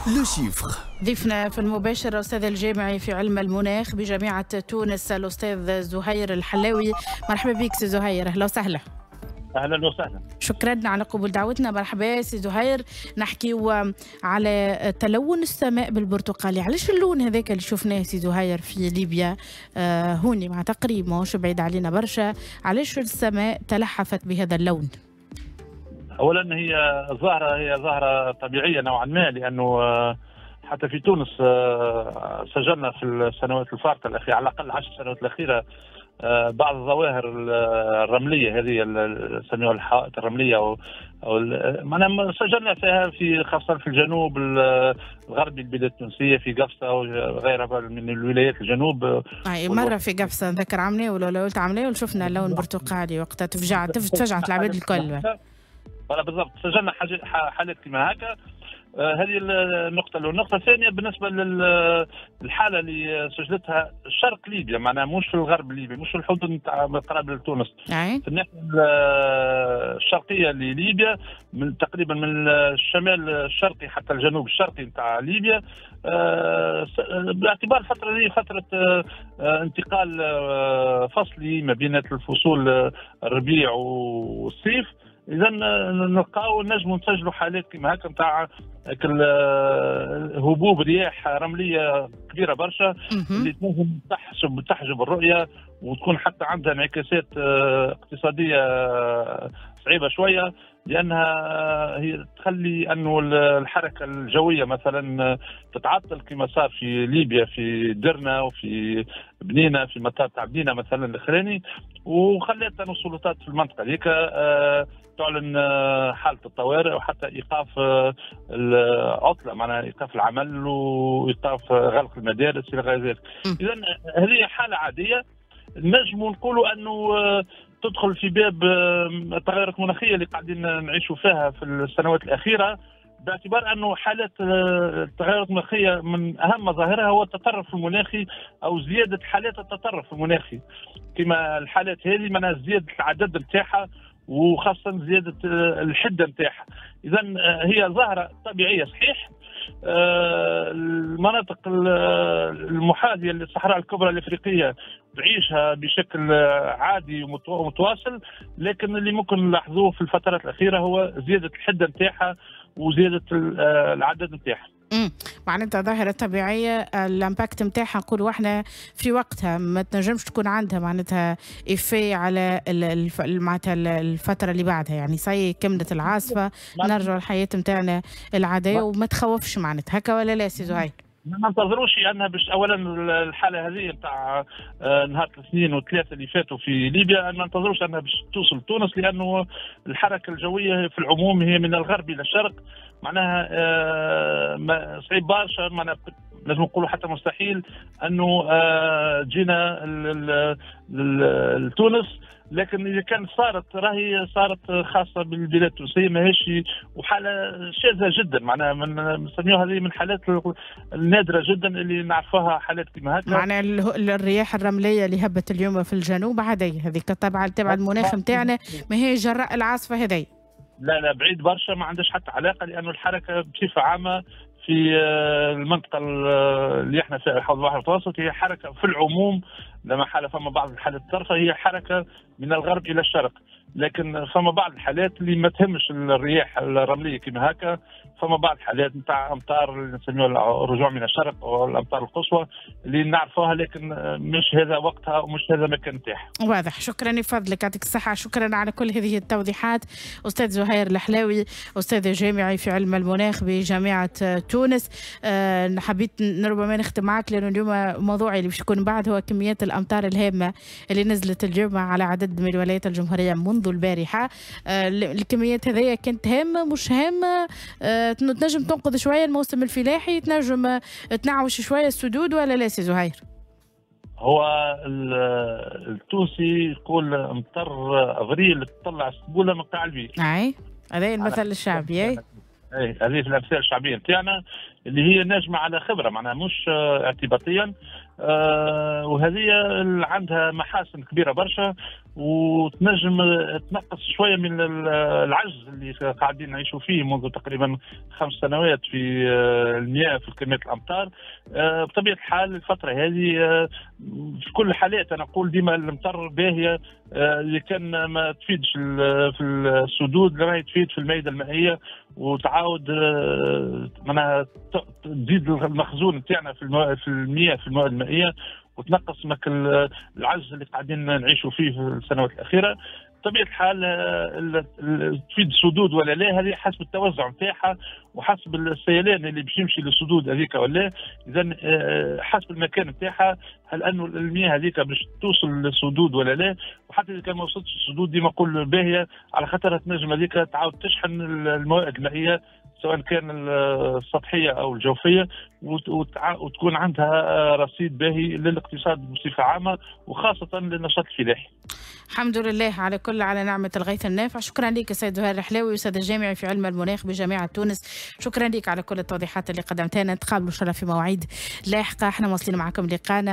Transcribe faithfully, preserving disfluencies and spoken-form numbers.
le chiffre. ضيفنا في المباشر الأستاذ الجامعي في علم المناخ بجامعة تونس الأستاذ زهير الحلاوي. مرحبا بك سي زهير، أهلا وسهلا. اهلا وسهلا، شكرا على قبول دعوتنا. مرحبا سي زهير، نحكيو على تلون السماء بالبرتقالي. علاش اللون هذاك اللي شفناه سي زهير في ليبيا آه هوني مع تقريب ماهوش بعيد علينا برشا، علاش السماء تلحفت بهذا اللون؟ اولا هي ظاهره هي ظاهره طبيعية نوعا ما، لانه حتى في تونس سجلنا في السنوات الفارطه الاخيرة على الاقل عشر سنوات الاخيرة بعض الظواهر الرملية هذه اللي نسميوها الحوائط الرملية او او معناها سجلنا فيها في خاصة في الجنوب الغربي البلاد التونسية في قفصه وغيرها من الولايات الجنوب. اي مرة في قفصه نذكر عملناه ولا قلت عملناه وشفنا اللون البرتقالي وقتها تفجعت تفجعت العباد الكل. voilà بالضبط، سجلنا حالات كما هكا. هذه النقطة الأولى. النقطة الثانية بالنسبة للحالة اللي سجلتها شرق ليبيا، معناها مش في الغرب الليبي، مش في الحدود نتاع قراب لتونس، في الناحية الشرقية لليبيا، من تقريبا من الشمال الشرقي حتى الجنوب الشرقي نتاع ليبيا، باعتبار الفترة هذه فترة انتقال فصلي ما بين الفصول الربيع والصيف. اذا نلقاو نجموا نسجلوا حالات كما هكا نتاع هبوب رياح رمليه كبيرة برشا اللي تنجم تحجب تحجب الرؤية وتكون حتى عندها انعكاسات اقتصادية صعيبة شوية، لانها هي تخلي انه الحركة الجوية مثلا تتعطل كما صار في ليبيا في درنا وفي بنينه في مطار تاع بنينه مثلا الاخراني، وخلت انه السلطات في المنطقة هذيك تعلن حاله الطوارئ وحتى ايقاف العطلة، معناها ايقاف العمل وايقاف غلق المدارس الى غير ذلك. اذا هذه حاله عادية نجم نقولوا انه تدخل في باب التغيرات المناخية اللي قاعدين نعيشوا فيها في السنوات الاخيرة، باعتبار انه حالات التغيرات المناخية من اهم مظاهرها هو التطرف المناخي او زيادة حالات التطرف المناخي كما الحالات هذه، معناها زيادة العدد نتاعها وخاصة زيادة الحدة نتاعها. اذا هي ظاهره طبيعية صحيح. المناطق المحاذيه للصحراء الكبرى الافريقية تعيشها بشكل عادي ومتواصل، لكن اللي ممكن نلاحظوه في الفترات الاخيرة هو زيادة الحدة نتاعها وزيادة العدد نتاعها. امم معناتها ظاهره طبيعية، ال impact نتاعها نقولوا احنا في وقتها ما تنجمش تكون عندها معناتها effet على الف... معناتها الفترة اللي بعدها، يعني ça y est كملت العاصفة نرجعوا للحياة نتاعنا العادية وما تخوفش معناتها هكا ولا لا سي زهير؟ ما ننتظروش انها باش اولا الحالة هذه نتاع نهار الاثنين والثلاثة اللي فاتوا في ليبيا ما ننتظروش انها باش توصل تونس، لانه الحركة الجوية في العموم هي من الغرب الى الشرق، معناها صعيب برشا، معناها لازم نقولوا حتى مستحيل انه جينا لتونس. لكن اذا كان صارت راهي صارت خاصة بالبلاد التونسية، ماهيش وحاله شاذة جدا، معناها من نسميوها هذه من الحالات النادرة جدا اللي نعرفوها حالات كما هكا. معناها الرياح الرملية اللي هبت اليوم في الجنوب عادية، هذيك تبع تبع المناخ نتاعنا، ما هي جراء العاصفة هذه. لا لا بعيد برشا، ما عندهاش حتى علاقة، لانه الحركة بصفة عامة في المنطقة اللي احنا فيها حوض البحر المتوسط هي حركة في العموم، لما حالة فما بعض الحالات الطرفه هي حركة من الغرب الى الشرق، لكن فما بعض الحالات اللي ما تهمش الرياح الرملية كما هكا، فما بعض الحالات نتاع امطار اللي نسميوها الرجوع من الشرق او الامطار القصوى اللي نعرفوها، لكن مش هذا وقتها ومش هذا مكان نتاعها. واضح، شكرا لفضلك، يعطيك الصحة، شكرا على كل هذه التوضيحات استاذ زهير الحلاوي، استاذ جامعي في علم المناخ بجامعة تونس. أه حبيت ربما نختم معك لانه اليوم موضوعي اللي باش يكون بعد هو كميات الامطار الهامة اللي نزلت اليوم على عدد من الولايات الجمهورية منذ البارحة. أه الكميات هذيا كانت هامة مش هامة؟ أه تنجم تنقذ شوية الموسم الفلاحي، تنجم تنعوش شوية السدود ولا لا سي زهير؟ هو التونسي يقول امطر افريل تطلع السبوله من قاع البيت. اي هذا المثل الشعبي. اي اي هذه في الامثال الشعبية نتاعنا. اللي هي ناجمة على خبره، معناها مش اعتباطيا، آه وهذه عندها محاسن كبيرة برشا وتنجم تنقص شوية من العجز اللي قاعدين نعيشوا فيه منذ تقريبا خمس سنوات في المياه في كمية الامطار. آه بطبيعة الحال الفترة هذه آه في كل الحالات انا نقول ديما المطر باهيه، آه اللي كان ما تفيدش في السدود راهي تفيد في المائدة المائية وتعاود آه معناها تزيد المخزون نتاعنا في في المياه في المواد المائية وتنقص مك العجز اللي قاعدين نعيشوا فيه في السنوات الاخيرة. بطبيعة الحال تفيد السدود ولا لا، هذه حسب التوزع نتاعها وحسب السيلان اللي باش يمشي للسدود هذيك ولا، اذا حسب المكان نتاعها، هل انه المياه هذيك باش توصل للسدود ولا لا، وحتى اذا كان ما وصلتش للسدود ديما نقول باهيه على خاطر تنجم هذيك تعاود تشحن المواد المائية سواء كان السطحية او الجوفيه، وتكون عندها رصيد باهي للاقتصاد بصفة عامة وخاصة للنشاط الفلاحي. الحمد لله على كل على نعمه الغيث النافع. شكرا لك السيد زهير الحلاوي، استاذ الجامعي في علم المناخ بجامعة تونس. شكرا لك على كل التوضيحات اللي قدمتها لنا. نتقابلوا ان شاء الله في مواعيد لاحقة. احنا واصلين معكم لقانا.